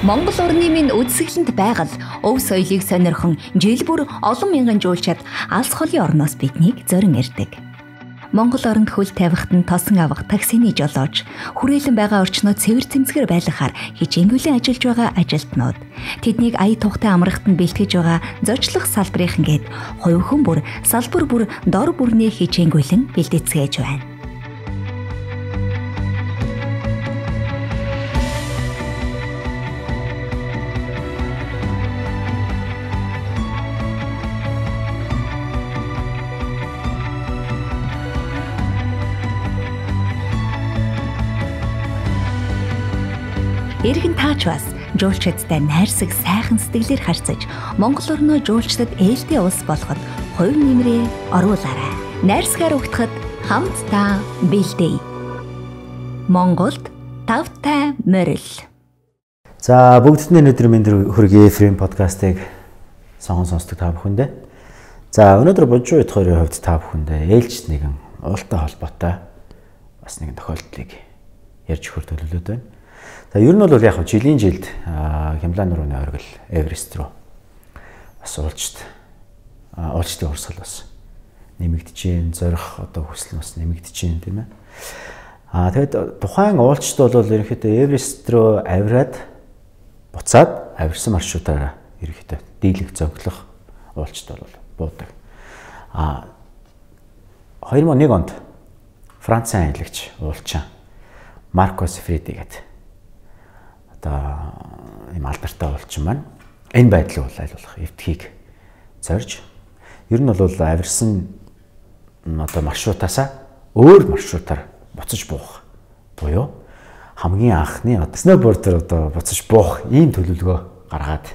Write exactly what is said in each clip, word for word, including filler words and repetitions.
Монгол орны минь үдсгэлэнд байгаль, өв соёлыг сонирхон жил бүр олон мянган жуулчид алс холын орноос биднийг зорин ирдэг. Монгол оронд хөл тавихт нь тосон авах таксины жолооч, хүрээлэн байгаа орчнод цэвэр цэмцгэр байлгахаар хичээнгүйлэн ажиллаж байгаа ажилтнууд, тэднийг ая тухтай амрахт нь бэлтгэж байгаа зочлох салбарынхан гээд хувь хүн бүр салбар бүр дор бүрний хичээнгүйлэн бэлдэцгээж байна. Иргэн таач бас жуулчдтай найрсаг сайхан сэтгэлээр харьцаж Монгол орноо жуулчдад ээлтэй улс болоход хувь нэмрээ оруулаарай. Найрсгаар угтахад хамтдаа бэлдээ. Монголд тавтай морил. За бүгдний өнөөдөр минь хүргэе Фрейм подкастыг сонгон сонсдог та бүхэндээ. За өнөөдөр Божуу ит хоёрын хувьд та бүхэндээ ээлжид нэгэн уултай холбоотой бас нэгэн тохиолдлыг ярьж өгөх төлөвлөд байна. За ер нь бол яг жилийн жилд Хямлан нурууны оргил Эверест руу бас уулзт уулзтын урсгал бас нэмэгдэж जैन зорих одоо хүсэл бас нэмэгдэж जैन тийм ээ. Аа тэгэд тухайн уулзт бол ерөнхийдөө Эверест руу авираад буцаад авирсан маршрутаараа ерөнхийдөө дийлэх зоглох уулзт бол буудаг. Аа хоёр мың и нэг онд Францын аялагч уулчаа Марко Сифреди гэдэг ийм алдартай уулчин маань энэ байдлыг бол айлуулах эвтхийг зорж ер нь бол авирсан одоо маршрутаасаа өөр маршрутаар буцаж буух буюу хамгийн анхны сноубордер одоо буцаж буух ийм төлөвлөгөө гаргаад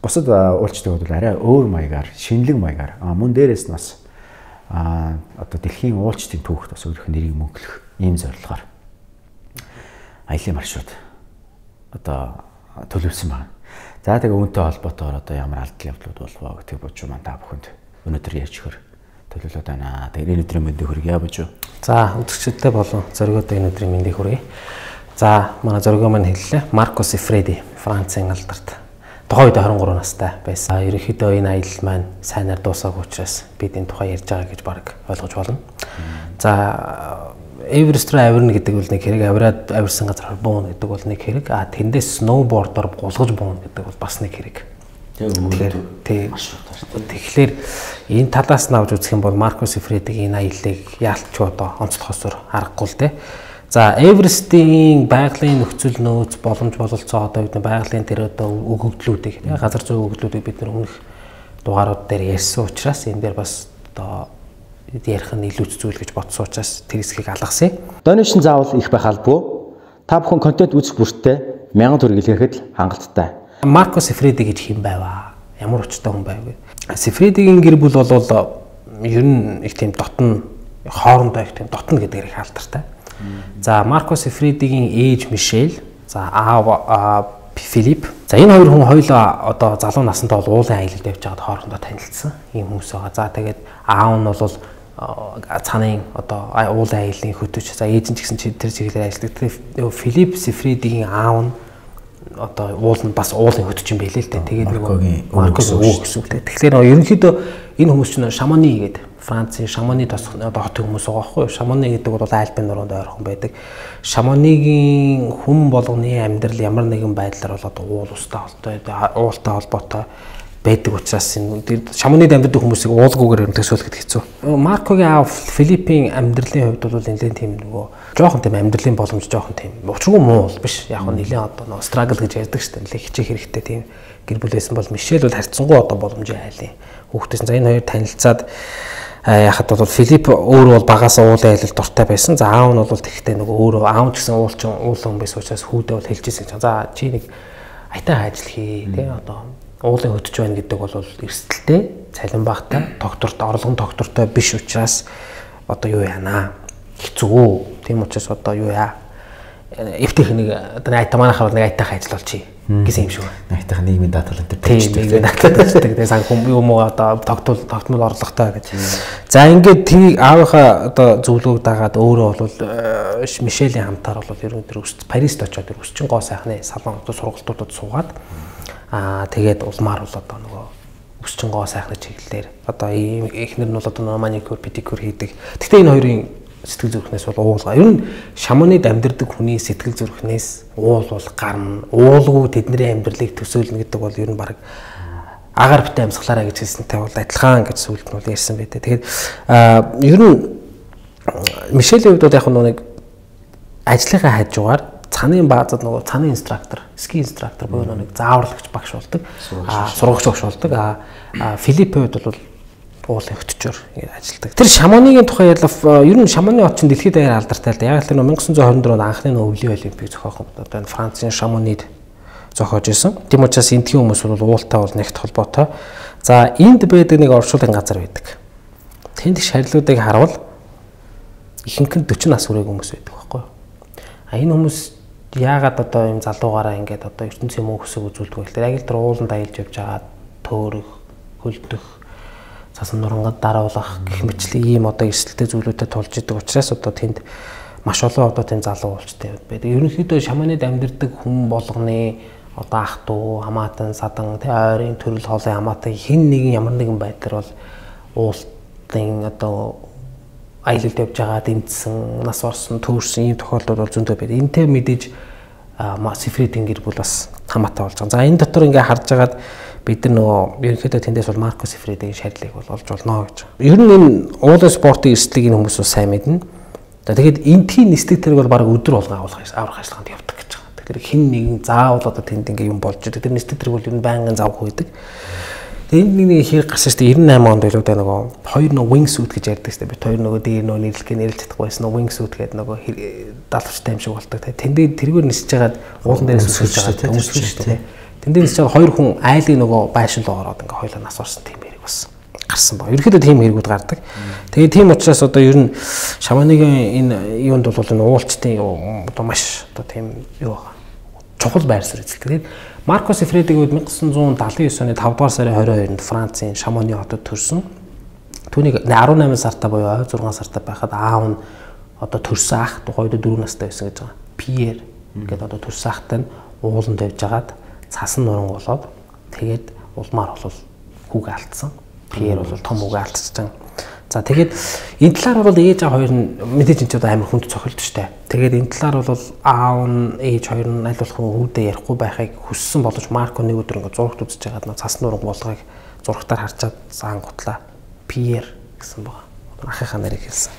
бусад уулчдад бол арай өөр маягаар шинэлэг маягаар мөн дээрээс нь бас одоо дэлхийн уулчдын түүхт бас өөрийнх нь нэрийг мөнхлөх ийм зорилгоор аялын маршрут одоо төлөвлөсөн байна. За тэгээ үүнтэй холбоотойгоор одоо ямар алдал явдлууд болов гэдэг божуу маань та бүхэнд өнөөдөр ярьж өгөх төлөвлөд байна. Тэгээ энэ өдрийн мэндийг хүргье божуу. За үзэгчдтэй болон зоригтой энэ өдрийн мэндийг хүргье. За манай зоригоо маань хэллээ. Марко Сифреди Францын алдарт тухайн үед двадцать три настай байсан. Ерөнхийдөө энэ аялал маань сайнаар дуусаагүй учраас бид энэ тухай ярьж байгаа гэж баг ойлгож байна. За Эверест руу авирна гэдэг бол нэг хэрэг, авираад авирсан газар бууна гэдэг бол нэг хэрэг. А тэндээс сноубордоор гулгаж бууна гэдэг бол бас нэг хэрэг. Тэгэхээр тэгэхээр энэ талаас нь авч үзэх юм бол Марко Сифредигийн энэ аяллыг яалтч одоо онцлохосоор аргагүй л дээ. За Эверестийн байгалийн нөхцөл нөөц боломж бололцоо одоо бид байгалийн тэр одоо өгөгдлүүдийг газар зүйн өгөгдлүүдийг бид нар өмнөх дугаарууд дээр ярьсан учраас энэ дээр бас одоо ярих нь илүү зүйл гэж бодсон учраас тэр хэсгийг алгасан. Донешн заавал их байх албагүй. Та бүхэн контент үзэх бүртээ мянган төгрөг илгээхэд хангалттай. Марко Сифреди гэж хэм байваа. Ямар учиртай хүн байв вэ? Сифредигийн гэр бүл бол ер нь их тийм дотн хоорондоо их тийм дотн гэдэг их алдартай. За Марко Сифредигийн ээж Мишель, за аав Филипп. За энэ хоёр хүн хоёулаа одоо залуу насндаа бол уулын аялалд явж байгаад хоорондоо танилцсан ийм хүмүүс байгаа. За тэгээд аав нь бол цаанын одоо уулын аяллаа хөтөч. За ээж нь ч гэсэн тэр чиглэлээр ажилладаг. Тэгээд Филипп Сифредигийн аав нь одоо уул нь бас уулын хөтөч юм байлээ л дээ. Тэгээд нэг Маркогийн өвөг гэсэн үг. Тэгэхээр ерөнхийдөө энэ хүмүүс чинь Шамони гэдэг Францын Шамони тосх одоо хот хүмүүс байгаа байхгүй юу? Шамони гэдэг бол Альпийн нуруунд ойрхон байдаг. Шамонигийн хүн болгоны амьдрал ямар нэгэн байдлаар бол одоо уул устай холбоотой, уултай холбоотой байдаг учраас энэ Шамонид амьдардаг хүмүүсийг уулгүйгээр төсөөлөхөд хэцүү. Маркогийн аав Филиппийн амьдралын хувьд бол нэлээд тийм нөгөө жоохон тийм амьдралын боломж жоохон тийм учиргүй муу биш. Яг нь нэлээд одоо нөгөө struggle гэж ярьдаг шүү дээ. Нэлээд хичээх хэрэгтэй тийм гэр бүлээсэн бол Мишель бол харьцангуй одоо боломжийн айлын хүүхдээс. За энэ хоёр танилцаад яхад бол Филипп өөрөө бол багасаа уулын аялалд дуртай байсан. За аав нь бол тэгтээ нөгөө өөрөө аав ч гэсэн уулчин уулын хүн байсан учраас хүүдээ бол хэлжсэн. За чи нэг аятайхан ажил хий тий одоо уулын хөтөж байна гэдэг бол эрсдэлтэй, цалин багтай, докторт орлогон доктортой биш учраас одоо юу яана? Хэцүү. Тийм учраас одоо юу яа? эвтэх нэг одоо айтаа манайхаар нэг айтаахан ажил болчих гэсэн юм шиг байна. Айтаахан нийгмийн даатгал энэ тийм нийгмийн даатгал гэдэг. Тэгээ санхүү юм уу одоо тогтмол тогтмол орлоготой гэж. За ингээд тийг аавынхаа одоо зөвлөгөөг дагаад өөрөө бол Мишелийн хамтаар бол ер нь тэр Парист очоод тэр өсчин гоо сайхны салон одоо сургалтуудад суугаад аа тэгээд улмаар бол одоо нөгөө өсчин гоо сайхны чиглэлээр одоо эхнэр нь бол одоо маникюр, педикюр хийдэг. Гэхдээ энэ хоёрын сэтгэл зүрхнээс бол уулга. Ер нь шаманид амьдардаг хүний сэтгэл зүрхнээс уул бол гарна. Уулгүй тэдний амьдралыг төсөөлнө гэдэг бол ер нь баг агаар битээ амьсгалаараа гэж хэлсэнтэй бол адилхан гэж сүлд нь бол ярьсан байдаг. Тэгээд ер нь Мишелийн хувьд бол яг нэг ажлынхаа хажуугаар цанын баазад нөгөө цанын инструктор, ски инструктор буюу нэг зааварлагч багш болдог. Аа сургагч багш болдог. Аа Филиппийн хувьд бол уулын хөтчөөр ажилладаг. Тэр шаманыгийн тухай ялав ер нь шаманы от чинь дэлхийд даяар алдартай л да. Яг л тэр нэмсэн зуун хорин дөрөнд анхны өвлийн олимпийг зохиохон одоо энэ Францын шаманид зохиож исэн. Тийм учраас эндхийн хүмүүс бол уултай бол нэгт холбоотой. За энд байдаг нэг оршуулгын газар байдаг. Тэнд шарилуудыг харуул ихэнх нь дөрвөн нас хүрээгүй хүмүүс байдаг байхгүй юу? А энэ хүмүүс яагаад одоо юм залуугаараа ингээд одоо ертөнцийн мөн хөсөг үзүүлдэг вэ гэхээр яг л тэр ууланд аялж явж байгаа төөрөх, хөлдөх, цасан нурангад даруулах гэх мэтлэн ийм одоо эрсдэлтэй зүйлүүдэд тулж идэг учраас одоо тэнд маш олон одоо тийм залуу уулчтай байдаг. Ерөнхийдөө шаманид амьдардаг хүн болгоны одоо ах дүү, хамаатан, садан, тэ ойрын төрөл хоолой хамаатан хэн нэгэн ямар нэгэн байдлаар бол уултын одоо аялалд явж байгаа дэмжсэн, нас орсон, төөрсөн ийм тохиолдол бол зөндөө байдаг. Энтэй мэдээж Сифридийн гэр бүл бас хамаатай болж байгаа. За энэ дотор ингээ харж агаад бид нар нөгөө ерөнхийдөө тэндээс бол Марко Сифридийн шарилыг бол олж болно гэж. Ер нь энэ уулын спортын эрсдлийг энэ хүмүүс сайн мэднэ. Тэгээд энтхийн нислэг тэрэг бол баг өдөр болгон авах аврах ажиллагаанд явдаг гэж байгаа. Тэгэхээр хэн нэгэн заавал одоо тэнд ингээ юм болж идэг. Тэр нислэг тэрэг бол ер нь байнгын завх байдаг. Тэгээд энд нэг хэрэг гарсан шүү дээ. девяносто восемь онд байлуу да нөгөө хоёр нөгөө wing suit гэж ярьдаг шүү дээ. Бид хоёр нөгөө дээр нөгөө нэрлэх нэрлэж чадахгүй байсан нөгөө wing suit гэдэг нөгөө далавчтай юм шиг болдог. Тэндээ тэргээр нисэж хагаад уулан дээрээс өсөж байгаа юм шүү дээ. Тэндээ нисэж байгаа хоёр хүн айлын нөгөө байшин руу ороод ингээ хоёлаа нас орсон тийм хэрэг бас гарсан ба. Ерөнхийдөө тийм хэрэгүүд гардаг. Тэгээд тийм учраас одоо ер нь шаманыгийн энэ юунд бол энэ уулчтын одоо маш одоо тийм юу байгаа. Чухал байр суурь эзэлдэг. Тэгээд Марко Сифридийн үед 천구 далайн девять оны тавдугаар сарын двадцать хоёрнд Францын Шамоны хотод төрсөн. Түүнийг десембер сартаа буюу зургаан сартаа байхад аав нь одоо төрсөн ах тухайд дөрөв настай байсан гэж байгаа. Пьер гэдэг одоо төрсөн ахтай нь ууланд явж агаад цасан нуран болоод тэгээд улмаар бол хүүгээ алдсан. Пьер бол том хүүгээ алдчихсан. За тэгээд энэ талаар бол ээж аав хоёр нь мэдээж энэ ч одоо амар хүнд цохилд штэ. Тэгээд энэ талаар бол аав нь ээж хоёр нь аль болох хүүдээ ярихгүй байхыг хүссэн боловч Марко нэг өдөр ингээ зурагт үзэж байгаад нөө цасны нуран болгоыг зурагтаар харчаад заангутлаа Пьер гэсэн байгаа. Ахыхаа нарыг хэлсэн.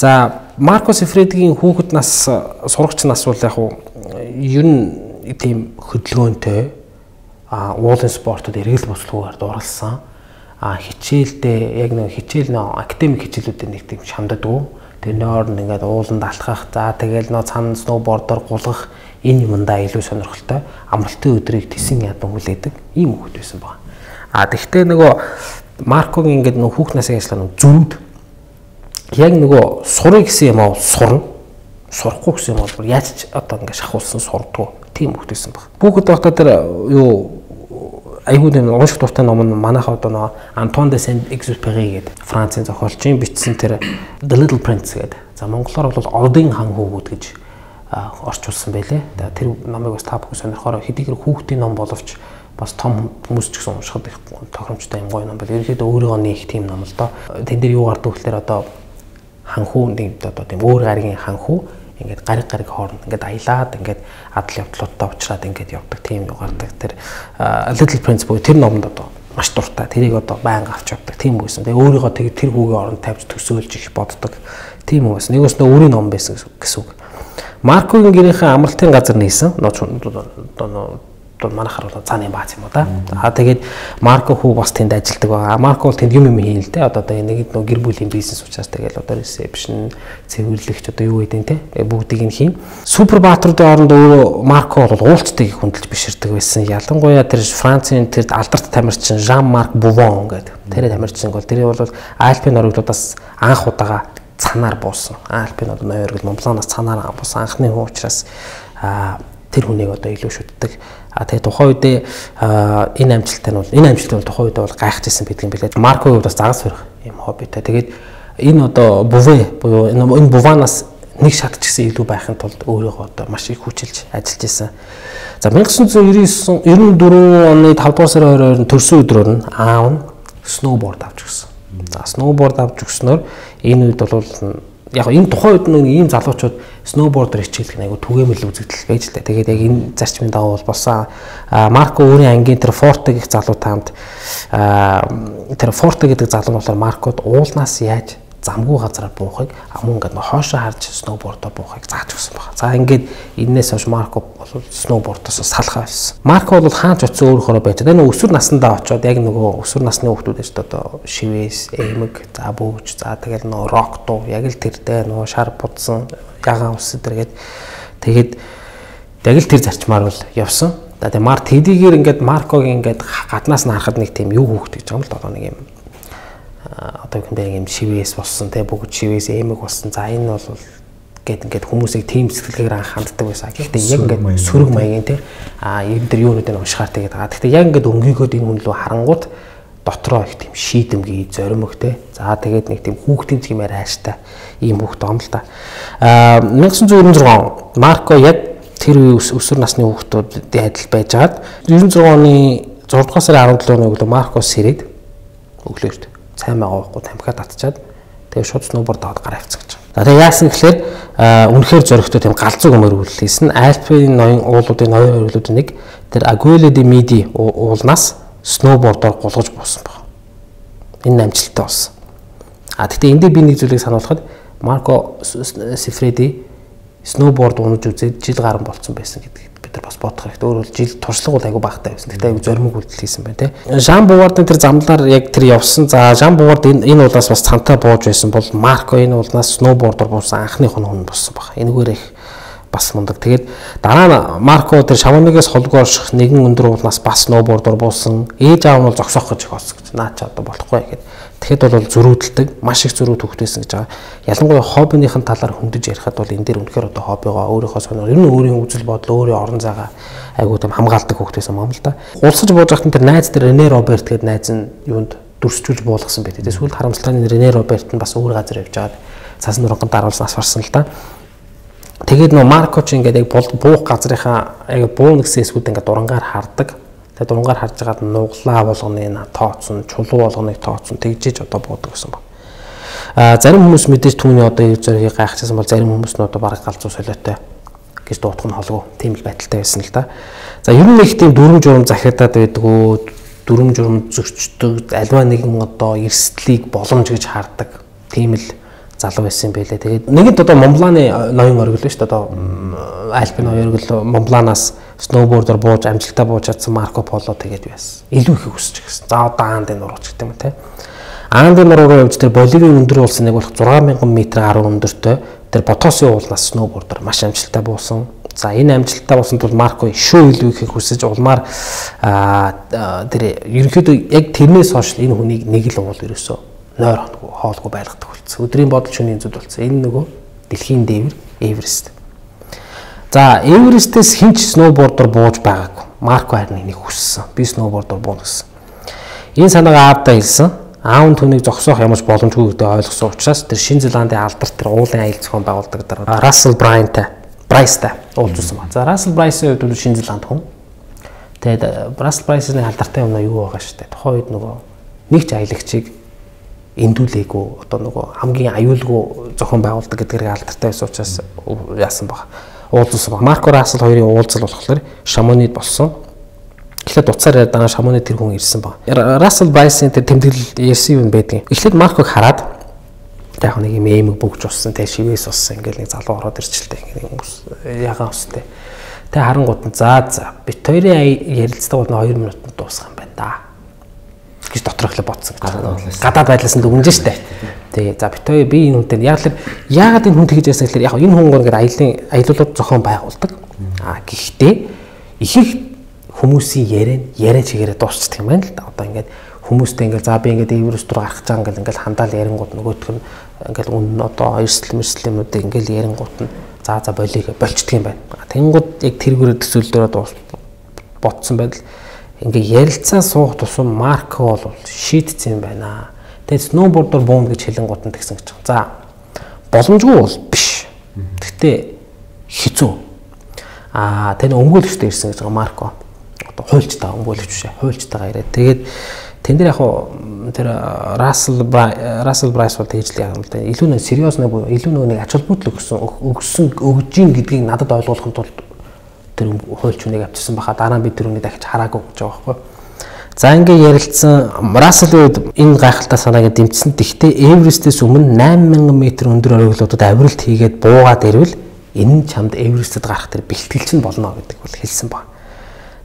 За Марко Сифридийн хүүхэд нас сурагч нас бол яг уу ер нь тийм хөдөлгөөнтэй а уулын спортод эргэл буцлагаар дурлсан. А хичээлдээ яг нэг хичээл нөө академик хичээлүүдээр нэг тийм шамдадгүй. Тэр нойр нь ингээд ууланд алхах, за тэгэл нөө цан сноубордоор гулгах энэ юмдаа илүү сонирхолтой. Амралтын өдрийг тэсэн ядан хүлээдэг ийм хүүхэд байсан байна. А тэгвэл нөгөө Маркогийн ингээд нөө хүүхд насны ажиллагаа зүрд яг нөгөө сурыг гэсэн юм аа сурна. Сурахгүй гэсэн юм бол яаж одоо ингээд шахуулсан сурдгүй тийм хүүхэд байсан байна. Хүүхэд байхдаа тэр юу айгууд энэ унших дуртай ном нь манайх одоо нөө Антуан де Сент-Экзюпери гэдэг Францын зохиолчийн бичсэн тэр The Little Prince гэдэг. За монголоор бол Одын хан хүүгүүд гэж орчуулсан байлээ. Тэр номыг бас та бүхэн сонирхороо хэдийгээр хүүхдийн ном боловч бас том хүмүүс ч гэсэн уншихад их тохиромжтой юм гоё ном байл. Ерөнхийдөө өөрийгөө нээх тийм ном л доо. Тэн дээр юу гардаг вэ гэхээр одоо ханхүү нэг одоо тийм өөр гаригийн ханхүү ингээд гариг гариг хооронд ингээд аялаад ингээд адал явдлуудтай уулзраад ингээд явдаг тийм юу гардаг. Тэр Little Prince буюу тэр номонд одоо маш дуртай. Тэрийг одоо байнга авч явдаг тийм байсан. Тэгээ өөрийгөө тэг тэр хүүгийн оронд тавьж төсөөлж их боддог. Тийм үү. Нэгөөс нөө өөрийн ном байсан гэсэн үг. Маркогийн гэрийнхээ амралтын газар нээсэн. Одоо манайхаар бол цааны бааз юм уу да. Аа тэгээд Марко хүү бас тэнд ажилладаг байгаа. Марко бол тэнд юм юм хийн л дээ. Одоо нэг нэг гэр бүлийн бизнес учраас тэгээд одоо ресепшн, цэвэрлэгч одоо юу гэдэг те бүгдийг нь хийн. Супер баатруудын оронд өөрөө Марко бол уулцтайг хүндэлж биширдэг байсан. Ялангуяа тэр Францын тэр алдарт тамирчин Жан Марк Бувон гэдэг. Тэр тамирчин бол тэр бол Альпийн орогдлуудаас анх удаага цанаар буусан. Альпин одоо ноён оргил Монбланаас цанаар буусан анхны хүн учраас тэр хүнийг одоо илүү шүтдэг. А тэгээ тухайн үедээ энэ амжилттай нь бол энэ амжилттай бол тухайн үедээ бол гайхажсэн байдаг юм билээ. Маркогийн хувьд бас загас барих юм хоббитай. Тэгээд энэ одоо Буве буюу энэ Буванаас нэг шат ч гэсэн илүү байхын тулд өөрийгөө одоо маш их хүчилж ажиллаж исэн. За 천구 девятьсот девяносто оны тавдугаар сарын хоёроор төрсөн өдрөөр нь аав нь сноуборд авч өгсөн. За сноуборд авч өгснөөр энэ үед бол яг энэ тухайн үед нэг ийм залуучууд сноубордер хичээлэх нэг түгээмэл үзэгдэл байж л та. Тэгээд яг энэ зарчмын дагуу бол болсон. Марко өөрийн ангийн тэр Форте гэх залуутай хамт тэр Форте гэдэг залуу нь болохоор Маркод уулнаас яаж замгүй газараар буухыг амун ингээд хоошоо харж сноубордоор буухыг зааж өгсөн байна. За ингээд энээс хойш Марко бол сноубордоос салхаа байсан. Марко бол хаач очисон өөрөөрөө байж байгаа. Энэ өсвөр насндаа очиод яг нөгөө өсвөр насны хүүхдүүд шүү дээ одоо шивээс, эмэг, за бүүж, за тэгэл нөгөө рок дуу яг л тэрдээ нөгөө шар будсан ягаан ус өдөргээд тэгээд яг л тэр зарчмаар бол явсан. За тэгээ Мар тэдийгээр ингээд Маркогийн ингээд гаднаас нь харахад нэг тийм юу хүүхд гэж байгаа юм л одоо нэг юм одоо үндэ юм шивээс болсон те бүгд шивээс эмэг болсон. За энэ бол гээд ингээд хүмүүсийг тийм сэтгэлгээр анх ханддаг байсан. Гэхдээ яг ингээд сөрөг маягийн те а энэ дэр юунууд нь уншихаар тэгээд байгаа. Гэхдээ яг ингээд өнгийгөөд энэ хүн лөө харангууд дотроо их тийм шийдэмгий зоримог те. За тэгээд нэг тийм хүүхдийн чимээр хайштай ийм хүүхд ом л да. А 천구 девяносто шесть Марко яг тэр өсвөр насны хүүхдүүдэд адил байжгаад девяносто шесть оны зургаан сарын арав долооныг л Маркос сэрээд өглөөд сайн байгаа байхгүй тамхиад татчаад тэгээ шууд сноуборд аваад гараа авцсан гэж. За тэгээ яасан гэхээр үнэхээр зөрөгтэй тийм галзуу өмөр үйллээсэн. Альпийн ноён уулуудын ноён оргилуудын нэг тэр Aguila de Midi уулнаас сноубордоор гулгаж буусан баг. Энэ амжилттай болсон. А тэгтээ эндээ би нэг зүйлийг сануулхад Марко Сифреди сноуборд унаж үзээд жил гарan болцсон байсан гэдгийг бид нар бас бодох хэрэгтэй. Өөрөөр жил туршлага бол айгүй багтаа байсан. Тэгтээ айгүй зоримог үйлдэл хийсэн байна те. Жан Бувардын тэр замлаар яг тэр явсан. За Жан Бувард энэ энэ уулаас бас цантаа бууж байсан бол Марко энэ уулнаас сноубордоор буусан анхны хүн болсон баг. Энэгээр их бас мундаг. Тэгээд дараа нь Марко тэр Шавонигээс холгүй орших нэгэн өндөр уулнаас бас сноубордоор буусан. Ээж аав нь бол зогсоох гэж болсон гэж. Наа ч одоо болохгүй гэхэд. Тэгэхэд бол зөрүүдэлдэг, маш их зөрүүд хөвгтэйсэн гэж байгаа. Ялангуяа хоббиныхын талаар хөндөж ярихад бол энэ дээр үнэхээр одоо хоббигоо өөрийнхөө сонир, ер нь өөрийн үзэл бодол, өөрийн орон зайгаа айгуу тийм хамгаалдаг хөвгтэйсэн юм л да. Улсаж бууж байхад тэр найз тэр Рене Роберт гэдэг найз нь юунд дүрсчүүлж буулгасан байт. Тэгээс сүүл харамсалтай Рене Роберт нь бас өөр газар явж байгаад цаасан нурганд даруулсан асварсан л да. Тэгээд нөө Марко ч ингээд яг буух газрынхаа яг буу нэгсээсүүд ингээд дурангаар хардаг. Тэгээд дурангаар харж байгаад нуглаа болгоны тооцсон, чулуу болгоныг тооцсон тэгжиж одоо буудаг гэсэн баг. А зарим хүмүүс мэдээж түүний одоо ив зоригийг гайхчихсан бол зарим хүмүүс нь одоо бараг галзуу солиотой гэж дуутах нь холгүй тийм л байдалтай байсан л да. За ер нь их тийм дүрм журм захиадаад байдгүй, дүрм журм зөрчдөг, альва нэгэн одоо эрсдлийг боломж гэж хардаг тийм л залуу байсан байлээ. Тэгээд нэгэнт одоо Монбланы ноён оргил шүү дээ. Одоо Альпин ноён оргил Монбланаас сноубордоор бууж амжилтаа бууж чадсан Марко Поло тэгээд байсан. Илүү их өсөж гисэн. За одоо Аандын нурууч гэдэг юм те. Аандын нуруу руу явж тэр Боливийн өндөр уулсан нэг болох зургаан мянган метр гаруй өндөртэй тэр Потосын уулнаас сноубордоор маш амжилттай буусан. За энэ амжилттай буусан тул Марко шүү илүү их хүсэж улмаар тэр ерөнхийдөө яг тэрнээс хойш энэ хүнийг нэг л уул ерөөсөө нойр хоног хоолгүй байлгадаг болсон. Өдрийн бодол шөнийн зүд болсон. Энэ нөгөө дэлхийн дээвэр Эверест. За Эверестээс хинч сноубордоор бууж байгаагүй. Марко харин энийг хүссэн. Би сноубордоор буuna гэсэн. Энэ санаагаа аавдаа хэлсэн. Аав нь түүнийг зогсоох ямарч боломжгүй гэдгийг ойлгосон учраас тэр Шинэ Зеландын алдарт тэр уулын аял зохион байгуулдаг дараа Рассел Брайантай, Брайстай уулзсан байна. За Рассел Брайсын хувьд Шинэ Зеланд хүн. Тэгээд Рассел Брайсны алдартай юм юу байгаа шүү дээ. Тухайн үед нөгөө нэг ч аялагчийг эндүүлээгүй одоо нөгөө хамгийн аюулгүй зохион байгуулдаг гэдгээр алдартай байсан учраас яасан баг. Уулзсан баг. Марко Рассел хоёрын уулзал болохоор Шамонид болсон. Эхлээд уцаар дараа Шамонид тэр хүн ирсэн баг. Рассел Брайсын тэр тэмдэглэл ярьсан юм байдаг. Эхлээд Марког хараад яг нэг юм эмэг бүгж уссан, тэ шивээс уссан ингээл нэг залуу ороод ирчихлээ. Ингээ хүмүүс ягаан устай. Тэ харангууд нь за за бит хоёрын ярилцлага бол хоёр минутанд дуусах юм байна да гэж доторх л бодсон. Гадаад байдлаас нь дүгнэж штэ. Тэгээ за бит хоёр би энэ хүнтэй яг л яагаад энэ хүн тэгж яасан гэхээр яг энэ хүн ингээд аялын аялуулууд зохион байгуулдаг. А гэхдээ их их хүмүүсийн яриа яриа чигээрээ дуусчихдаг юм байна л да. Одоо ингээд хүмүүстэй ингээл за би ингээд Эверест руу гарах гэж байгаа ингээл ингээл хандаал ярингууд нөгөөх нь ингээл үнэн одоо эрсдэл мэрсдэл юмнуудыг ингээл ярингууд нь за за болиг болчдөг юм байна. Тэнгууд яг тэргүүрээ төсөөлдөрөө ботсон байдал ингээ ярилцаа суух тусам Марко бол шийдсэн юм байна. Тэгээд сноубордоор буун гэж хэлэн гутан тэгсэн гэж байна. За боломжгүй бол биш. Гэхдээ хэцүү. Аа тань өмгөөлөгчтэй ирсэн гэж байгаа Марко. Одоо хуульчтай өмгөөлөгч бишээ. Хуульчтайгаа ирээд тэгээд тэн дээр яг хуу тэр Рассел Рассел Брайс бол тэгж л яг юм л да. Илүү нэг сериус нэг илүү нэг ач холбогдол өгсөн өгсөн өгжин гэдгийг надад ойлгуулахын тулд тэр хуульч хүнийг авчирсан баха дараа нь би тэр үнийг дахиж хараагүй гэж байгаа байхгүй. За ингээ ярилцсан Рассел үед энэ гайхалтай санааг дэмжсэн. Тэгвэл Эверестээс өмнө найман мянган метр өндөр оргилуудад авиралт хийгээд буугаад ирвэл энэ нь чамд Эверестэд гарах тэр бэлтгэлч нь болно гэдэг бол хэлсэн баг.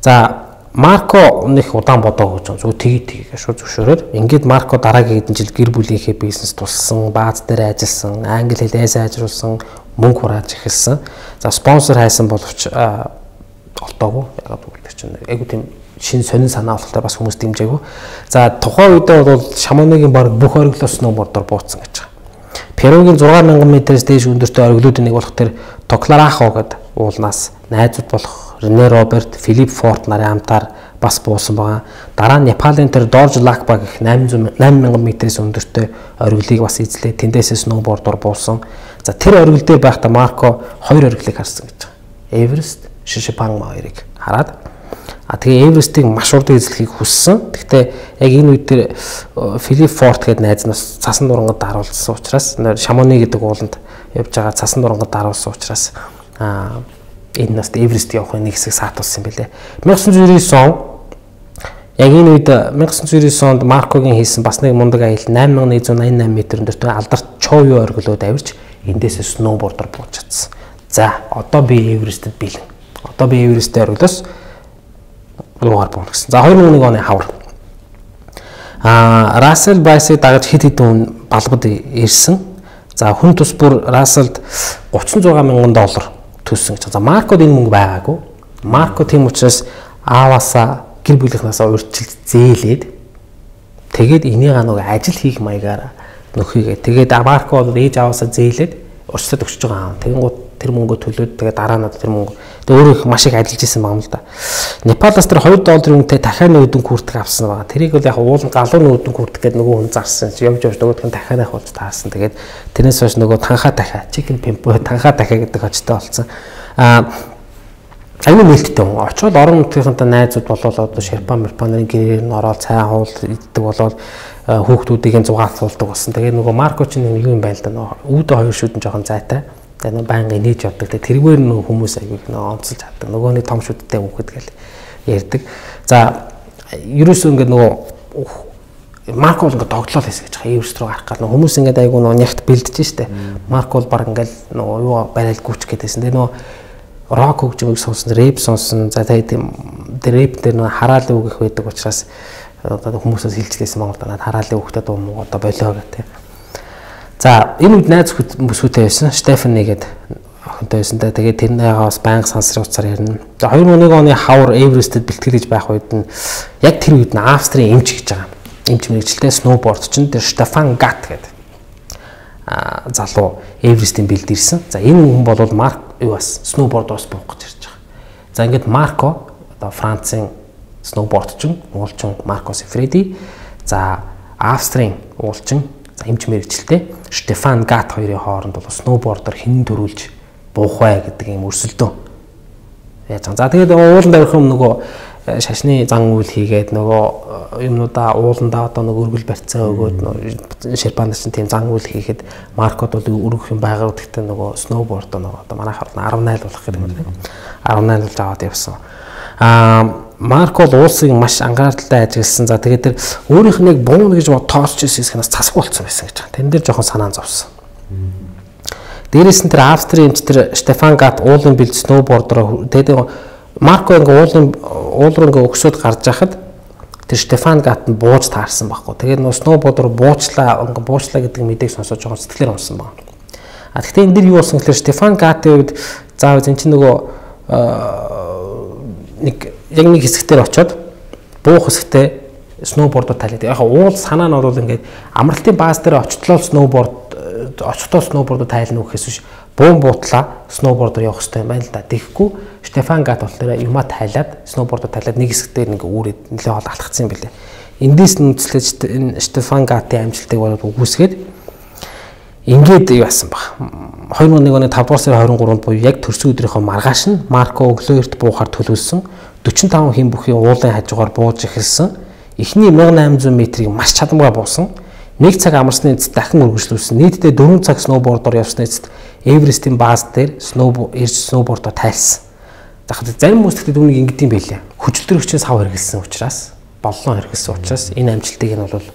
За Марко нэг удаан бодоагүй ч зүг тгий тгий шууд зөвшөөрөөд ингээд Марко дараагийн хэдэн жил гэр бүлийнхээ бизнес тулсан, бааз дээр ажилласан, англи хэлээ сайжруулсан, мөнгө хурааж эхэлсэн. За спонсор хайсан боловч олдоогүй. Ягаад гэвэл чинь айгу тийм шин сонин санаа болохтой бас хүмүүс дэмжээгүй. За тухайн үедээ бол Шамоныгийн баг бүх оргилоо сноубордоор бууцсан гэж байгаа. Перугийн зургаан мянган метрээс дээш өндөртэй оргилуудын нэг болох тэр Токларахо гэдэг уулнаас найзууд болох Рене Роберт, Филипп Форт нарын хамтаар бас буусан байгаа. Дараа нь Непалийн тэр Дорж Лакба гэх найман мянган метрээс өндөртэй оргилыг бас эзлээ. Тэндээсээ сноубордоор буусан. За тэр оргил дээр байхдаа Марко хоёр оргилыг харсан гэж байгаа. Эверест, Шишипангма хоёрыг хараад а тэгээ Эверестийг маш урд эзлэхийг хүссэн. Гэхдээ яг энэ үед тэр Филипп Форт гэдэг найз нь цасан дурангад даруулсан учраас Шамоны гэдэг ууланд явж байгаа цасан дурангад даруулсан учраас а энэ нас Эверест явахын нэг хэсэг саатуулсан юм билээ. 천구 백구 девять он яг энэ үед 천구 백구 девять онд Маркогийн хийсэн бас нэг мундаг аялал найман мянган нэгэн зуун найман метр өндөртэй алдарт Чоуё оргилууд авирч эндээсээ сноубордоор бууж чадсан. За одоо би Эверестэд бэлэн. Одоо би Эвересттэй оргилоос руугаар буuna гэсэн. За две тысячи один оны хавар. Аа Рассел Брайсыг дагаж хэд хэдэн балбад ирсэн. За хүн тус бүр Расселд гуцсан зургаан мянган доллар төлсөн гэж. За Маркод энэ мөнгө байгаагүй. Марко тийм учраас ааваасаа гэр бүлийнхнаасаа урьдчилж зээлээд тэгээд энийг нэг ажил хийх маягаар нөхөйгээ. Тэгээд Марко бол ээж ааваасаа зээлээд урьдчилаад өгч байгаа юм. Тэгэнгუთ тэр мөнгөө төлөөд тэгээд дараа нь тэр мөнгө тэгээд өөрөө их маш их ажиллаж исэн байгаа юм л да. Непалаас тэр two долларын үнэтэй дахиад нүүдэн күртэг авсан байгаа. Тэрийг бол яг уул галуу нүүдэн күртэг гэдэг нөгөө хүн зарсан. Явж явж нөгөөх нь дахиад авах болж таарсан. Тэгээд тэрнээс хойш нөгөө танхаа дахиа chicken pimpo танхаа дахиа гэдэг очтой болсон. Аа аюу нээлттэй хүн. Очоод орон нутгийнхантай найзууд болол одоо Шерпан Мерпанарын гэрээр нь ороод цай хуул иддэг болол хүүхдүүдийн зугаалцуулдаг болсон. Тэгээд нөгөө Марко ч нэг юм байл да нөгөө үүдэ хоёр шүдэн жоохон зайтай. Тэгээд байнга нээж явдаг. Тэргээр нөгөө хүмүүс аяг нөгөө онцолж чаддаг. Нөгөөний том шүдтэй хүүхэд гэл ярьдаг. За ерөөсөө ингээд нөгөө Марко бол ингээд тогтлол хийсэн гэж байгаа. Эверест рүү гарах гал нөгөө хүмүүс ингээд аяг нөгөө нягт бэлдэж штэ. Марко бол баг ингээд нөгөө юу барайл гүч гэдээсэн. Тэгээд нөгөө рок хөгжмөг сонсон, рэп сонсон. За тэгээд тэр рэп дээр нөгөө хараалын үг их байдаг учраас одоо хүмүүсээс хилчлээсэн Монгол танаад хараалын үгтэй дуу муу одоо болоо гэх. За энэ үед найз бүсгүйтэй байсан. Стефани гэдэг охинтой байсан. Тэгээд тэрнээс байнга сансрын уцаар ярина. За two thousand one оны хавар Эверестэд бэлтгэлж байх үед нь яг тэр үед нь Австрийн эмч гэж байгаа. Эмч мэрэгчлээ сноуборд чинь тэр Стефан Гат гэдэг а залуу Эверестийн бэлд ирсэн. За энэ хүн бол Марк юу бас сноубордоос буух гэж ирж байгаа. За ингээд Марко одоо Францын сноубордчин, уулчин Марко Сефреди, за Австрийн уулчин эмч мэрэгчлээ Стефан Гат хоёрын хооронд бол сноубордоор хэн дөрүүлж буух вэ гэдэг юм өрсөлдөөн яаж байгаа. За тэгээд ууланд авирах юм нөгөө шашны зан үйл хийгээд нөгөө юмнуудаа ууландаа одоо нөгөө өргөл барьцаа өгөөд Шерпан нар чинь тийм зан үйл хийхэд Маркод бол өргөх юм байгаа гэхдээ нөгөө сноуборд нөгөө одоо манайхаар десять болох гэдэг юм байна. десять болж аваад явсан. Аа Марко бол уулсыг маш анхааралтай ажигласан. За тэгээд тэр өөрийнх нь яг буун гэж бод тоосч ирсэн хэсгээс цасг болцсон байсан гэж байна. Тэн дээр жоохон санаа зовсон. Дээрээс нь тэр Австрийн эмч тэр Стефан Гат уулын бэлд сноубордоор тэгээд Марко ингээ уулын уул руу ингээ өгсөд гарч яхад тэр Стефан Гат нь бууж таарсан байхгүй. Тэгээд нөө сноубордоор буучлаа ингээ буучлаа гэдэг мэдээг сонсож жоохон сэтгэлээр унсан байна. А гэхдээ энэ дэр юу болсон гэхээр Стефан Гатын үед заавал энэ чинь нөгөө нэг яг нэг хэсэгтэр очиод буух хэсэгтээ сноубордоор тайлаад. Яг уул санаа нь бол ингээд амралтын бааз дээр очтлоо сноуборд очтол сноубордоор тайлна гэхээс биш буун буутлаа сноубордоор явах хэрэгтэй юм байна л да. Тэгэхгүй Штефан Гат болохоор юма тайлаад сноубордоор тайлаад нэг хэсгээр нэг үүрээд нэлээд хол алдчихсан юм билээ. Эндээс нүцлэж Штефан Гатын амжилтыг болоод үгүйсгээд ингээд юу асан баг. две тысячи один оны петр сарын двадцать третьнд буюу яг төрсөн өдрийнхөө маргааш нь Марко өглөөрт буухаар төлөвлөсөн forty five хэм бүхий уулын хажуугаар бууж эхэлсэн. Эхний eighteen hundred метрийг маш чадамгай буусан. Нэг цаг амарсны эцэст дахин үргэлжлүүлсэн. Нийтдээ four цаг сноубордоор явсны эцэст Эверестийн бааз дээр сноуб ирж сноубордоор тайлсан. Тэгэхээр зарим хүмүүс тэгтээ түүнийг ингэдэм байлээ. Хүчлэрэгчээс сав хэрэгэлсэн учраас, боллон хэрэгэлсэн учраас энэ амжилтыг нь бол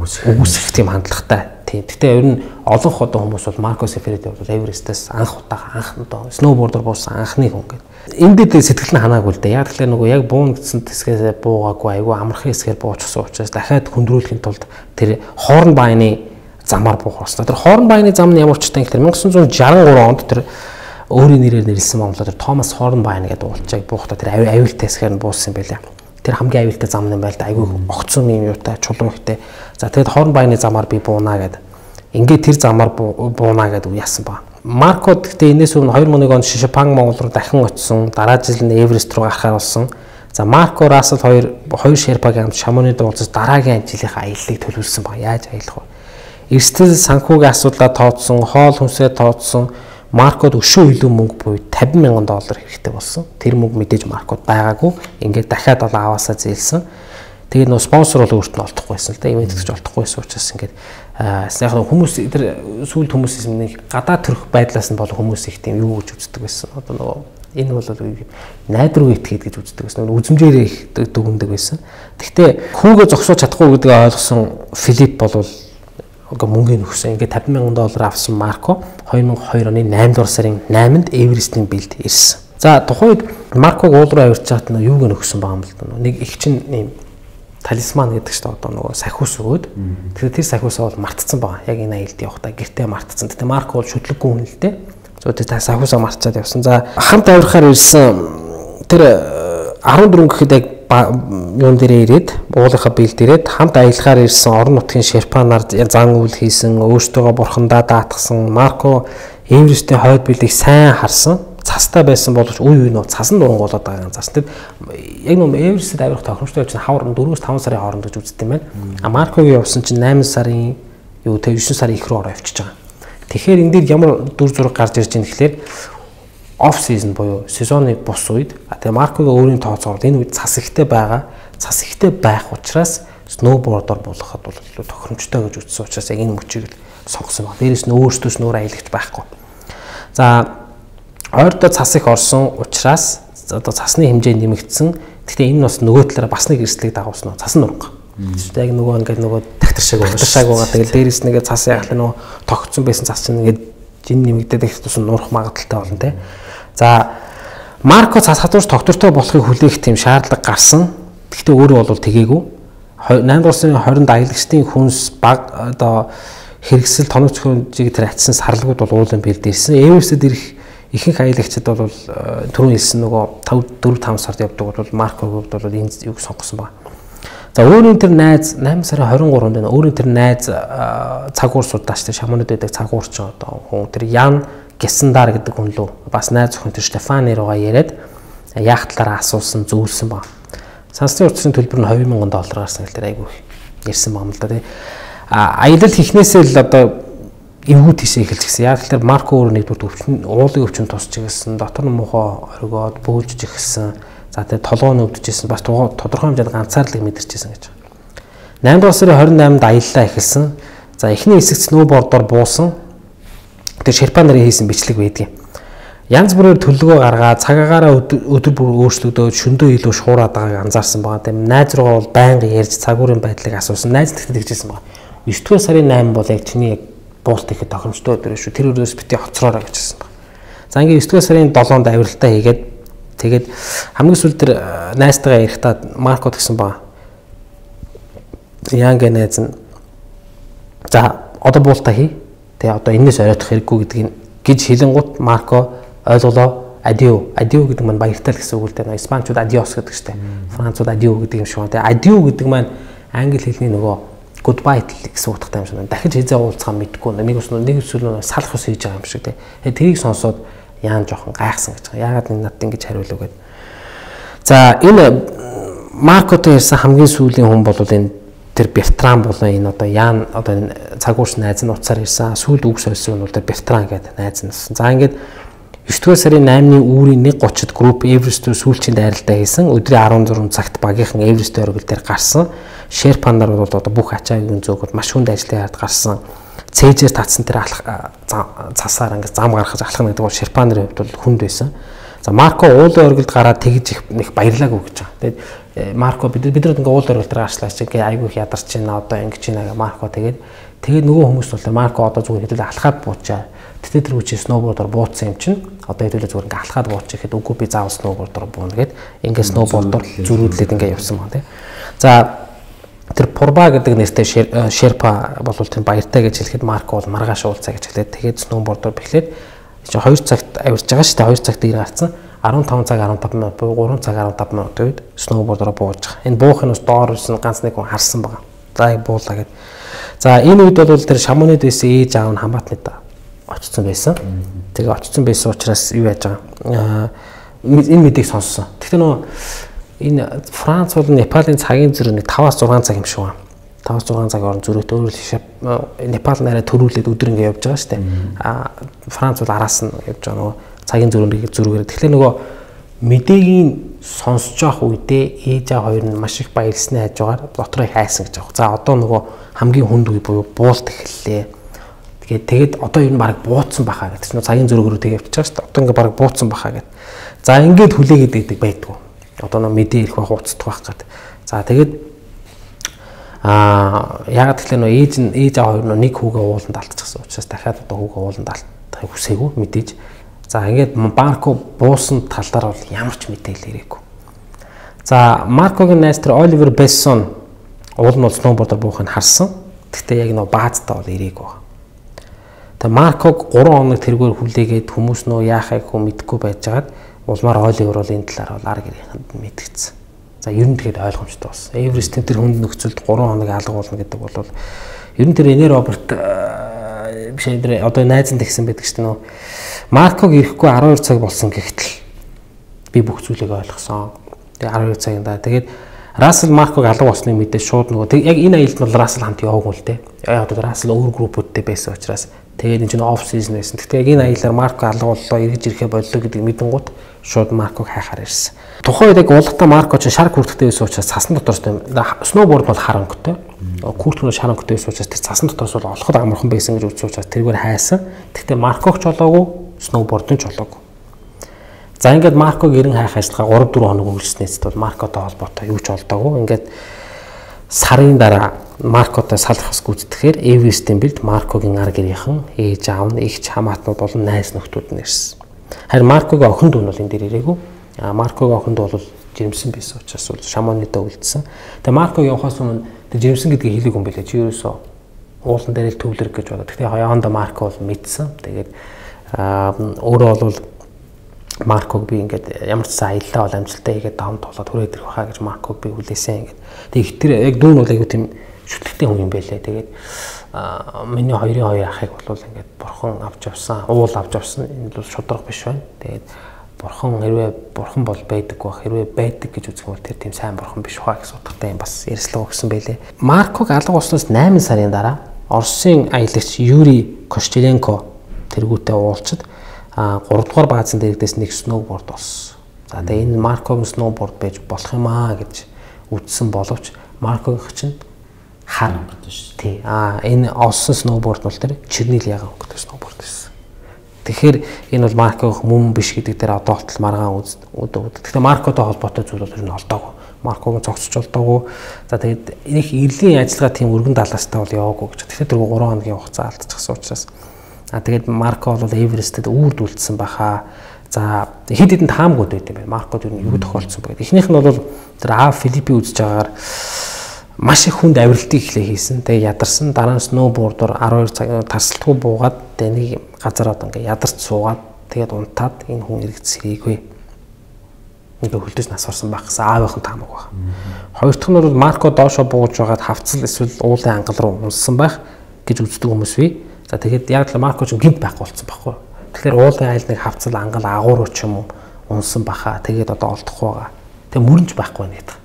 үгүйсэх тийм хандлагатай. Тийм. Гэхдээ ер нь олон ходон хүмүүс бол Марко Сефериди бол Эверестээс анх удаа анх удаа сноубордоор буусан анхны хүн гэдэг. Эндээ сэтгэл нь ханаагүй л дээ. Яг тэгэхээр нөгөө яг буун гэсэн хэсгээс буугаагүй айгүй амархан хэсгээр буучсан учраас дахиад хүндрүүлэхийн тулд тэр хоорн байны замаар буух болсон. Тэр хоорн байны зам нь ямар ч тань гэхээр nineteen sixty-three онд тэр өөрийн нэрээр нэрлсэн Монголоор тэр Томас Хоорн байна гэдэг уулчааг буухта тэр аюултай хэсгээр нь буусан юм байлаа. Тэр хамгийн аюултай зам юм байл да. Айгүй огцсон юм юутай чулуун ихтэй. За тэгээд хоорн байны замаар би буунаа гэдэг. Ингээд тэр замаар буунаа гэдэг яасан ба. Марко гэхдээ энэс өмнө two thousand one онд Шишапан Монгол руу дахин очсон. Дараа жил нь Эверест руу гарахаар болсон. За Марко Рассел хоёр хоёр Шерпагийн хамт Шамонид уулзаж дараагийн ажлынхаа аяллыг төлөвлөсөн ба. Яаж аялах вэ? Эрсдэл санхүүгийн асуудлаа тооцсон, хоол хүнсээ тооцсон. Маркод өшөө илүү мөнгө буюу fifty thousand доллар хэрэгтэй болсон. Тэр мөнгө мэдээж Маркод байгаагүй. Ингээд дахиад бол аваасаа зээлсэн. Тэгээд нөө спонсор бол өөрт нь олдохгүйсэн л да. Ивент гэж олдохгүйсэн учраас ингээд яг хүмүүс тэр сүүлд хүмүүсээс нэг гадаа төрөх байдлаас нь бол хүмүүс их тийм юу гэж үздэг байсан. Одоо нөгөө энэ бол найдвар итгээд гэж үздэг байсан. Үзмжээрээ их дүгндэг байсан. Гэхдээ хүүгээ зогсоож чадахгүй гэдгийг ойлгосон Филипп бол ингээ мөнгөний өгсөн. Ингээ fifty thousand доллар авсан Марко two thousand two оны eight дугаар сарын eighth Эверестийн бэлд ирсэн. За тухайд Марког уул руу авирч чад нь юуг нөгсөн байгаа юм л да. Нэг их чин ийм талисман гэдэг чинь одоо нөгөө сахиус өгөөд тэгэхээр тэр сахиусаа бол мартцсан байгаа. Яг энэ аялд явахдаа гэртээ мартцсан. Тэгтээ Марко бол шүтлэггүй хүн л дээ. Зөв тэр сахиусаа мартчаад явсан. За хамт авирахаар ирсэн тэр fourteen гэхэд яг юун дээрээ ирээд уулынхаа бэлд ирээд хамт аялахаар ирсэн орон нутгийн Шерпанаар зан үйл хийсэн, өөртөөгөө бурхандаа даатгсан Марко Эверестийн хойд бэлдийг сайн харсан. Цастай байсан боловч үе үе нөө цасан дурангуулаад байгаа юм. Цас тэр яг нөө Эверестэд авирах тохиромжтой чинь хавар four-өөс five сарын хооронд гэж үздэг юм байна. А Маркогийн явсан чинь eight сарын юу тэ nine сарын их рүү ороо явчихж байгаа. Тэгэхээр энэ дээр ямар дүр зураг гарч ирж байгаа гэхэлэр off season буюу сезоны бус үед тэгээ Маркогийн өөрийн тооцоолол энэ үед цас ихтэй байгаа. Цас ихтэй байх учраас сноубордоор болоход бол тохиромжтой гэж үзсэн учраас яг энэ мөчийг сонгосон байна. Дээрээс нь өөртөөс нөр аялагч байхгүй. За ойрдоо цас их орсон учраас одоо цасны хэмжээ нэмэгдсэн. Гэхдээ энэ бас нөгөө талаараа бас нэг эрсдлийг дагуулсан. Цасан нурга. Тэгвэл яг нөгөө ингээд нөгөө тагтаршааг тагтаршааг байгаа. Тэгэл дээрээс нэгээ цас яг л нөгөө тогтсон байсан цас чинь ингээд жин нэмэгдээд их тус нурах магадaltaй болно те. За Марко цас хадуурч тогтвортой болохыг хүлээх тийм шаардлага гарсан. Гэхдээ өөрөө бол тэгээгүй. eight дугаар сарын twenty аялагчдын хүнс баг одоо хэрэгсэл тоног зохиолжийг тэр атсан сарлагууд бол уулын бэлдээсэн. Эверестэд ирэх ихэнх аялагчид бол түрүүн хэлсэн нөгөө four five сард явдаг бол Маркогийн хувьд бол энэ юг сонгосон байна. За өөрийн тэр найз eight сарын twenty-third дээр өөрийн тэр найз цагуур судаач тэр Шамонод байдаг цагуур ч одоо хүн тэр Ян Гесендар гэдэг хүн лөө бас найз охин тэр Штефани руугаа яриад яах талаараа асуусан зөвлөсөн байна. Сансны урдсын төлбөр нь twenty thousand доллар гарсан гэхээр айгүй ярьсан байна л да тий. А аялал хийхнээсээ л одоо эвгүй тийшээ эхэлж гисэн. Яг л тэр Марко өөрөө нэгдүгээр өвчин уулын өвчин тусч гисэн. Дотор нь муухай оргиод бөөлж гисэн. За тэгээ толгоо нь өвдөжсэн. Бас тодорхой хэмжээнд ганцаарлыг мэдэрчээсэн гэж. eight дугаар сарын twenty-eighнд аяллаа эхэлсэн. За эхний хэсэгт сноубордоор буусан. Тэр Шерпа нарын хийсэн бичлэг байдгийн. Янз бүрээр төлөвлөгөө гаргаад цагаагаараа өдөр бүр өөрчлөгдөөд шөндөө илүү шуураад байгааг анзаарсан байгаа. Тийм найз руугаа бол байнга ярьж цагуурын байдлыг асуусан. Найз тэгтээ тэгжсэн байгаа. nine дугаар сарын eight бол яг чиний яг буулт ихэд тохиромжтой өдөр шүү. Тэр өрөөс бити хоцроороо гэж хэлсэн байна. За ингээ nine дугаар сарын seventh авиралтаа хийгээд тэгээд хамгийн сүүлд тэр найзтайгаа ярихдаа Марко гэсэн байна. Яан гэ найз нь за одоо буултаа хий. Тэгээ одоо энэс оройтох хэрэггүй гэдгийг гэж хэлэнгуут Марко ойлголоо адио адио гэдэг маань баяртай л гэсэн үг л дээ. Испанчууд адиос гэдэг штэ. Францууд адио гэдэг юм шиг байна. Тэгээ адио гэдэг маань англи хэлний нөгөө goodbye гэсэн утгатай юм шиг байна. Дахиж хизээ уулзах мэдгүй нэг ус нэг эсвэл салах ус хийж байгаа юм шиг тий. Тэрийг сонсоод яан жоохон гайхсан гэж байгаа. Яагаад энэ надад ингэж хариулав гэд. За энэ Маркотой ярьсан хамгийн сүүлийн хүн бол энэ тэр Бертран болон энэ одоо Ян одоо энэ цагуурч найз нь уцаар ирсэн. Сүүлд үг сольсон нь бол тэр Бертран гэдэг найз нь. За ингээд девдүгээр сарын наймны үүрийн нэг гуцид групп Эверест рүү сүүлчийн дайралтаа хийсэн. Өдрийн арван зурган цагт багийнхан Эверест оргил дээр гарсан. Шерпан нар бол одоо бүх ачаагийн зөөгд маш хүнд ажлын хард гарсан. Цээжээр татсан тэр алах цасаар ингээд зам гаргаж алхах гэдэг бол Шерпан нарын хувьд бол хүнд байсан. За Марко уулын оргилд гараад тэгж их нэг баярлаагүй гэж байгаа. Тэгээд Марко бид бид нар ингээ уулын оргилд гарчлаач ингээ айгүй их ядарч байна одоо ингэж байна гэ Марко тэгээд тэгээд нөгөө хүмүүс бол Марко одоо зүгээр хэдүүлээ алхаад буучаа. Тэгтээ тэр хүчээ сноубордоор бууцсан юм чинь одоо хэдүүлээ зүгээр ингээ алхаад буучих гэхэд үгүй би заавал сноубордоор буuna гэд ингээ сноубордоор зөрүүлээд ингээ явсан байна тий. За тэр Пурба гэдэг нэртэй Шерпа бол тэр баяртай гэж хэлэхэд Марко бол маргааш уулзаа гэж хэлээд тэгээд сноубордоор бэхлээд чи хоёр цагт авирж байгаа шүү дээ. хоёр цагт ир гарцсан. арван таван цаг арван таван минут буюу гурван цаг арван таван минут үед сноубордоор бууж байгаа. Энэ буухын ус доор ирсэн ганц нэг хүн харсан байгаа. За буулаа гэд. За энэ үед бол тэр Шамонид байсан ээж аав нь Хамаатнад очсон байсан. Тэгээ очсон байсан учраас юу яаж байгаа. Энэ мэдийг сонссон. Гэхдээ нөө энэ Франц бол Непалийн цагийн зөрүү нэг таваас зургаан цаг юм шиг байна. таваас зургаан цаг орон зөрүүтэй өөрөөр Непал нараа төрүүлээд өдөр ингэ явж байгаа шүү дээ. А Франц бол араас нь явж байгаа нөгөө цагийн зөрүүнийг зөрүүгээр. Тэгэхээр нөгөө мэдээгийн сонсож явах үедээ ээж аа хоёр нь маш их баярлсны хажуугаар дотроо их хайсан гэж байгаа. За одоо нөгөө хамгийн хүнд үе буюу буулт эхэллээ. Тэгээд тэгэд одоо ер нь баг бууцсан бахаа гэдэг чинь цагийн зөрөөгөөр тэгээ явчихж байгаа шүү дээ. Одоо ингээ баг бууцсан бахаа гэдэг. За ингээд хүлээгээд байдаг байдгүй. Одоо нөгөө мэдээ ирэх байх уцдах байх гэдэг. За тэгээд Аа яг тэгэхээр нөө ээж нь ээж аа хоёр нь нэг хүүгээ ууланд алдчихсан учраас дахиад одоо хүүгээ ууланд алдахыг хүсээгүй мэдээж. За ингээд Марко буусан талаар бол ямар ч мэдээлэл ирээгүй. За Маркогийн найз тэр Оливер Бессон уул нь бол сноубордоор буухыг харсан. Гэхдээ яг нөө баазтаа бол ирээгүй байна. Тэгээ Марког гурван хоног тэргээр хүлээгээд хүмүүс нөө яахыг хөө мэдэхгүй байжгаад улмаар Оливер бол энэ талаар бол ар гэрийнхэнд мэдгэцсэн. За ер нь тэгээд ойлгомжтой болсон. Эверестийн тэр хүнд нөхцөлд гурван хоног алга болно гэдэг бол ер нь тэр Энэ Роберт биш энэ одоо найз нь тэгсэн байдаг шүү дээ нөө. Марког ирэхгүй арван хоёр цаг болсон гэхдээ би бүх зүйлийг ойлгосон. Тэгээд арван хоёр цагийн дараа тэгээд Рассел Марког алга болсны мэдээ шууд нөгөө яг энэ аялалд бол Рассел хамт яваагүй л дээ. Яг одоо Рассел өөр группүүдтэй байсан учраас тэгээд энэ чинь оф сизон байсан. Гэхдээ яг энэ аяллаар Марко алга боллоо, эргэж ирэхээ боллоо гэдэг мэдэнгууд шууд Марког хайхаар ирсэн. Тухайн үед яг уулгата Марко ч шар хүртэхтэй байсан учраас цасан дотор сноуборд бол хар өнгөтэй. Куртгноо шар өнгөтэй байсан учраас тэр цасан дотроос бол олоход амархан байсан гэж үзсэн учраас тэргээр хайсан. Гэхдээ Марког ч болоогүй, сноуборд нь ч болоогүй. За ингээд Марког ерэн хайх ажиллагаа гурав дөрвөн хоног үргэлжлэнэст бол Маркотой холбоотой юу ч олдоогүй. Ингээд сарын дараа Маркотой салхас гүйцэтгэхээр Эверестийн бэлд Маркогийн ар гэрийнхэн ээж аав нь ихч хамаатнууд болон найз нөхдүүд нь ирсэн. Харин Маркогийн охин дүү нь бол энэ дээр ирээгүй. А Маркогийн охин дүү бол жирэмсэн байсан учраас бол Шамонидаа үлдсэн. Тэгээ Марко явахаас өмнө тэр жирэмсэн гэдгийг хэлээг юм билээ. Чи ерөөсөө уулан дээр л төвлөрөх гэж бодоо. Тэгтээ хаяанда Марко бол мэдсэн. Тэгээд өөрөө бол Марког би ингээд ямар ч сан аяллаа бол амжилттай хийгээд давамт болоод хүрээд ирэх байхаа гэж Марког би хүлээсэн ингээд. Тэг их тэр яг дүүн бол айгу тийм шүтлэгтэй хүн юм байлээ. Тэгээд миний хоёрын хоёр ахыг бол ингээд бурхан авч явсан, уул авч явсан. Энэ бол шудраг биш байна. Тэгээд бурхан хэрвээ бурхан бол байдаг байх, хэрвээ байдаг гэж үзэх юм бол тэр тийм сайн бурхан биш хаа гэсэн утгатай юм бас ярьслаа өгсөн байлээ. Марког алга болсноос найман сарын дараа Оросын аялагч Юрий Кошчеленко тэргүүтээ уулзад а гурав дугаар баазын дээрээс нэг сноуборд болсон. За тэгээ энэ Маркогийн сноуборд байж болох юм аа гэж үзсэн боловч Маркогийн чинь хар өнгөтэй шүү. Тий. А энэ олсон сноуборд бол тэр Чернил ягаан өнгөтэй сноуборд байсан. Тэгэхээр энэ бол Маркогийн мөн биш гэдэг дээр одоо болтол маргаан үз. Тэгэхээр Маркотой холбоотой зүйл бол ер нь олдоогүй. Маркогийн цогцож олдоогүй. За тэгээд энэ их ирлийн ажиллагаа тийм өргөн далаастай бол яваагүй гэж. Тэгэхээр тэр гурван хоногийн хугацаа алдчихсан учраас а тэгээд Марко бол Эверестэд үрд үлдсэн баха. За хэд хэдэн таамгууд байт юм байна. Маркод юу юу тохиолдсон бэ? Эхнийх нь бол тэр А Филиппи үзэж байгаагаар маш их хүнд авиралтыг эхлээ хийсэн. Тэгээд ядарсан. Дараа нь сноубордоор арван хоёр цаг тасалтгүй буугаад тэгээд нэг газар одоо ингээ ядарч суугаад тэгээд унтаад энэ хүн эргэж сэрийгүй. ингээ хөлдөж нас орсон байх гэсэн аавынхан таамаг баг. Хоёр дахь нь бол Марко доошо бууж байгаад хавцал эсвэл уулын ангал руу унссан байх гэж үздэг хүмүүс бий. За тэгээд яг л Марко ч гинт байхгүй болсон байхгүй. Тэгэхээр уулын айлныг хавцал ангал агууруу ч юм уу унсан баха. Тэгээд одоо олдохгүй байгаа. Тэгээ мөрөнж байхгүй байна гэдэг.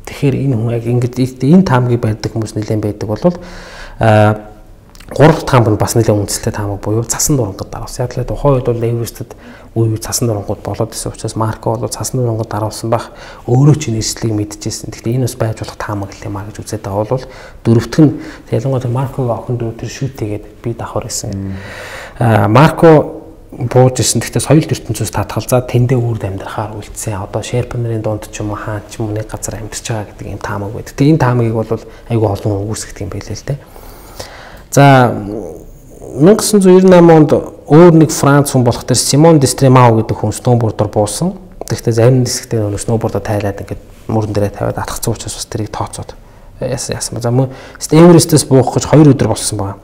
Тэгэхээр энэ хүн яг ингэж энэ таамгийг барьдаг хүмүүс нэлээд байдаг болвол аа гурав таамаг нь бас нэлээд үндэслэлтэй таамаг буюу цасан дурангад даруулсан. Яг л тухайн үед бол Эверестед үе үе цасан дурангууд болоод исэн учраас Марко бол цасан дурангад даруулсан байх өөрөө ч нэрслийг мэдчихсэн. Гэхдээ энэ бас байж болох таамаг л юм а гэж үзээд байгаа бол дөрөвтг нь ялангуяа Маркогийн охин дүү тэр шүүтэйгээд би давхар гэсэн. Аа Марко бууж исэн. Гэхдээ соёл ертөнцөөс татгал за тэндээ үрд амьдрахаар үлдсэн. Одоо Шерпа нарын дунд ч юм уу хаан ч юм уу нэг газар амьдарч байгаа гэдэг ийм таамаг байдаг. Тэгээ энэ таамагийг бол айгүй олон үгүйсгдэг юм байлээ л дээ. За мянга зуун девяносто восемь онд өөр нэг Франц хүн болох тэр Симон Дестремау гэдэг хүн сноубордоор буусан. Тэгэхдээ зарим хэсэгтээ нөгөө сноубордоо тайлаад ингээд мөрөн дээрээ тавиад атгацсан учраас бас тэрийг тооцоод яасан яасан. За мөн Эверестээс буух гэж хоёр өдөр болсон байна.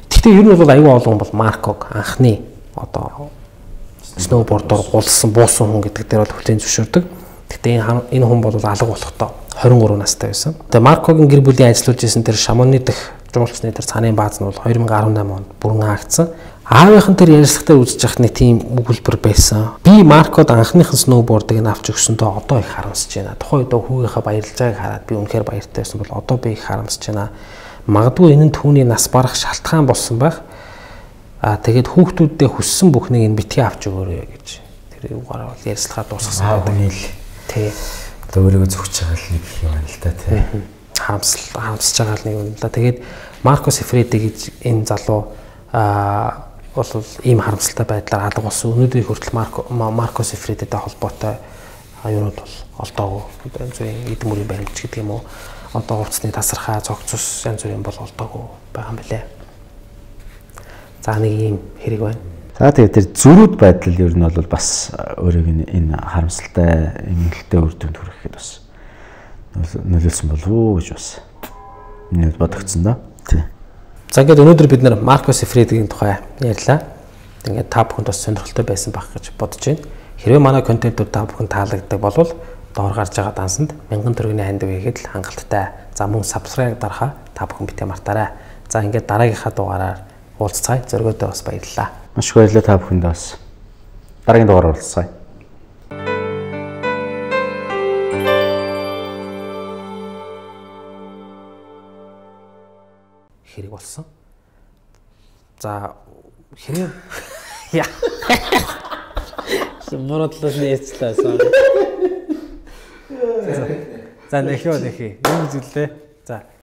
Гэхдээ ер нь бол аюул олон бол Марког анхны одоо сноубордоор гулсан буусан хүн гэдэг дээр бол хүлээн зөвшөөрдөг. Гэхдээ энэ энэ хүн бол алга болохдоо двадцать три настай байсан. Тэгээ Маркогийн гэр бүлийн ажиллаж исэн тэр Шамоны дэх жуулчны тэр цааны бааз нь бол две тысячи десять онд бүрэн хаагдсан. Аавынхан тэр ярилцлагатаа үзэж явах нэг тийм өгүүлбэр байсан. Би Маркод анхныхан сноубордыг нь авч өгсөндөө одоо их харамсаж байна. Тухайн үед хүүгийнхаа баярлж байгааг хараад би үнэхээр баяртай байсан бол одоо би их харамсаж байна. Магадгүй энэ нь түүний нас барах шалтгаан болсон байх. Аа тэгээд хүүхдүүддээ хүссэн бүхнийг энэ битгий авч өгөөрэй гэж тэр үгээр бол ярилцлагаа дуусгасан байдаг. Тий. Одоо өөрийгөө зөвхөж байгаа нэг юм байна л да тий. Харамсал харамсаж байгаа нэг юм л да. Тэгээд Марко Сифреди гэж энэ залуу аа бол ийм харамсалтай байдлаар алга болсон. Өнөөдрийн хүртэл Марко Марко Сифредитэй холбоотой аюунууд бол олдоогүй. Зөвхөн эдэн мөрийн баримтч гэдэг юм уу? Одоо хувцсны тасархаа, цогцос янз бүрийн бол олдоогүй байгаа юм билээ. За нэг ийм хэрэг байна. За тэгээд тэр зөрүүд байдал ер нь бол бас өөрийг энэ харамсалтай эмгэлтэй үр дүнд хүрэхэд бас нөлөөлсөн болов уу гэж бас нэг бодогдсон да. Тий. За ингээд өнөөдөр бид нэр Марко Сифредигийн тухай ярьлаа. Ингээд та бүхэнд бас сонирхолтой байсан байх гэж бодож байна. Хэрвээ манай контентууд та бүхэнд таалагддаг бол доор гарч байгаа дансанд мянган төгрөгийн хандив хийгээд л хангалттай. За мөн subscribe дарахаа та бүхэн битээ мартаарай. За ингээд дараагийнхаа дугаараар уулзцай. Зөргөөдөө бас баярлалаа. Маш их баярлалаа та бүхэнд бас. Дараагийн дугаараар уулзцай. Хэрэг болсон. За хэрэг яа. Мородлол нээцлээ. За нэхөө нэхээ. Юу зүйлээ? За